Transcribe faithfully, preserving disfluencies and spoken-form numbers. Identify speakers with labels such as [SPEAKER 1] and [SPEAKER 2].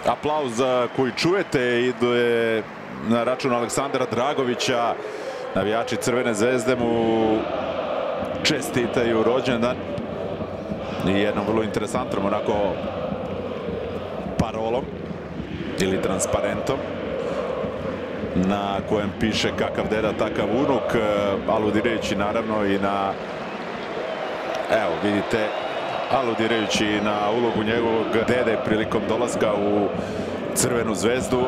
[SPEAKER 1] Aplauz koji čujete ide na račun Aleksandra Dragovića. Navijači Crvene zvezde mu čestitaju rođendan i jednom vrlo interesantnom onako parolom ili transparentom na kojem piše kakav deda takav unuk, aludirajući naravno i na, evo vidite, aludirajući na ulogu njegovog dede prilikom dolaska u Crvenu zvezdu.